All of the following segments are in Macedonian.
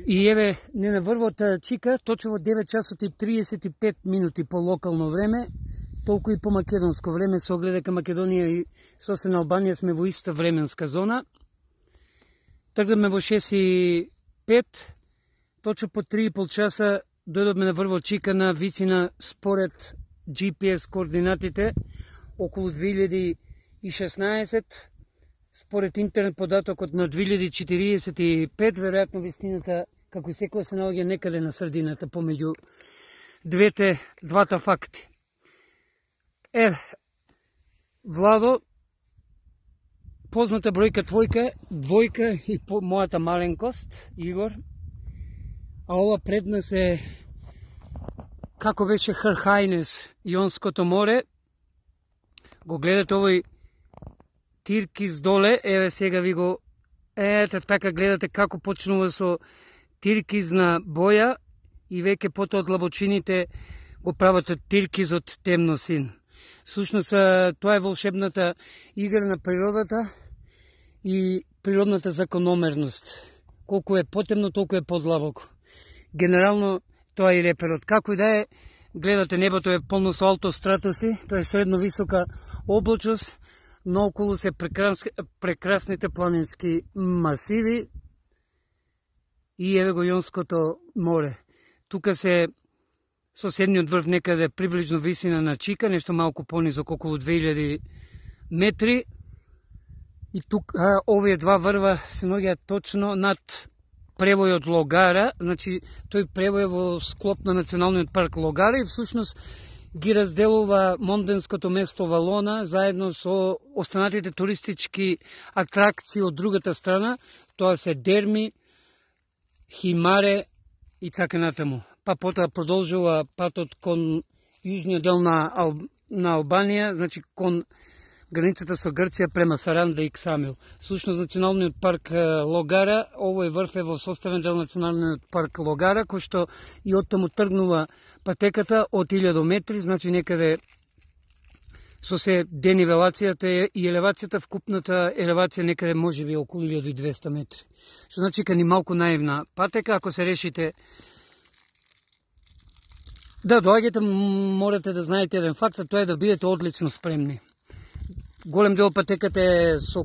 И еве, не на врвот чика, точно во 9 часот и 35 минути по локално време, толку и по македонско време, со оглед дека Македонија и сосна Албанија сме во иста временска зона. Тргнаме во 6:05, точно по 3,5 часа дојдовме на врвот чика на висина според GPS координатите околу 2016, според интернет податокот на 2045, веројатно вистината, како и секоја, се наоѓа некаде на средината помеѓу двата факти. Владо, позната бројка двојка и мојата маленкост, Игор, а ова пред нас е, како беше Her Highness, Јонското море. Го гледате овој тиркиз доле, еве сега ви го, така гледате како почнува со тиркизна боја и веќе потоа од длабочините го прават тиркизот темно син. Всушност тоа е волшебната игра на природата и природната закономерност. Колку е потемно, толку е подлабоко. Генерално тоа е реперот. Како и да е, гледате небото е полно со алтостратоси, тоа е средно висока облачност, наоколу се прекрасните планински масиви и еве го Јонското море. Тука се соседниот врв некаде приближно висина на Чика, нешто малку понизок, околу 2000 метри. И тука овие два врва се наоѓаат точно над превојот Логара, значи тој превој е во склоп на Националниот парк Логара и всушност ги разделува монденското место Валона заедно со останатите туристички атракции од другата страна, тоа се Дерми, Химаре и така натаму. Па потоа продолжува патот кон јужниот дел на Албанија, значи кон границата со Грција према Саранда и Ксамил. Всушност Националниот парк Логара, овој врв е во составен дел Националниот парк Логара, кој што и оттаму тргнува патеката од 1000 метри, значи некаде со се денивелацијата и елевацијата, вкупната елевација некаде може би околу 1200 метри. Што значи ка ни малку наивна патека, ако се решите да доаѓате, морате да знаете еден факт, а тоа е да бидете одлично спремни. Голем дел патеката е со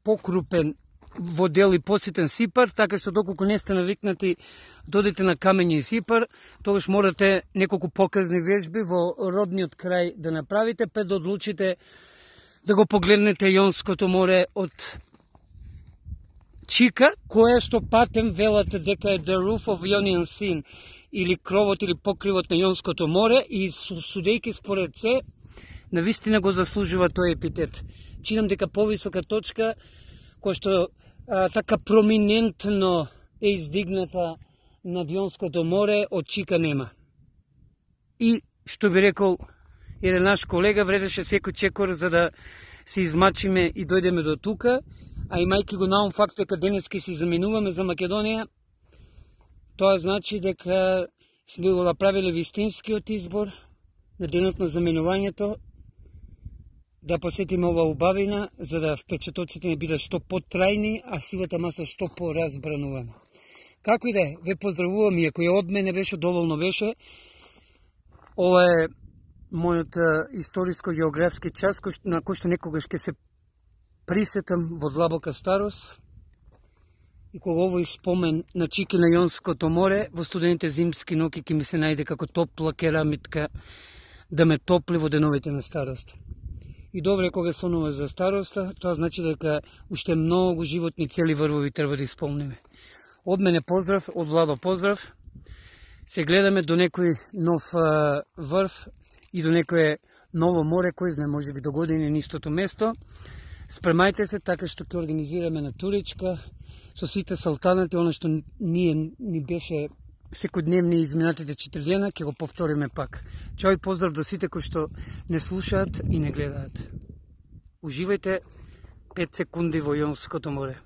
покрупен во дел и поситен сипар, така што доколку не сте навикнати додите на камења и сипар, тогаш морате неколку показни вежби во родниот крај да направите, пред да одлучите да го погледнете Јонското море од Чика, кое што патем велат дека е the roof of Ionian Sea, или кровот или покривот на Јонското море, и судејки според се, навистина го заслужува тој епитет. Чинам дека повисока точка, која што така проминентно е издигната над Јонското море, од Чика нема. И, што би рекол еден наш колега, вредеше секој чекор за да се измачиме и дојдеме до тука, а имајќи го наум факт дека денески си заменуваме за Македонија, тоа значи дека сме го направиле вистинскиот избор на денот на заменувањето, да посетиме ова убавина, за да впечатоците не бидат што потрајни, а сивата маса што поразбранувана. Како и да е, ве поздравувам, иако и од мене беше, доволно беше. Ова е мојот историско-географски час, на кој што некогаш ќе се присетам во длабока старост, и кога овој спомен на Чики на Јонското море во студените зимски ноќи ќе ми се најде како топла керамитка да ме топли во деновите на старост. И добре кога сонува за староста, тоа значи дека уште многу животни цели врвови треба да исполниме. Од мене поздрав, од Владо поздрав. Се гледаме до некој нов врв и до некое ново море, кој знае, може би до години на истото место. Спремајте се, така што ќе организираме на туричка со сите салтанати, она што ни беше секојдневни изминатите 4 дена, ќе го повториме пак. Чао и поздрав до сите кои што не слушаат и не гледаат. Уживајте 5 секунди во Јонското море.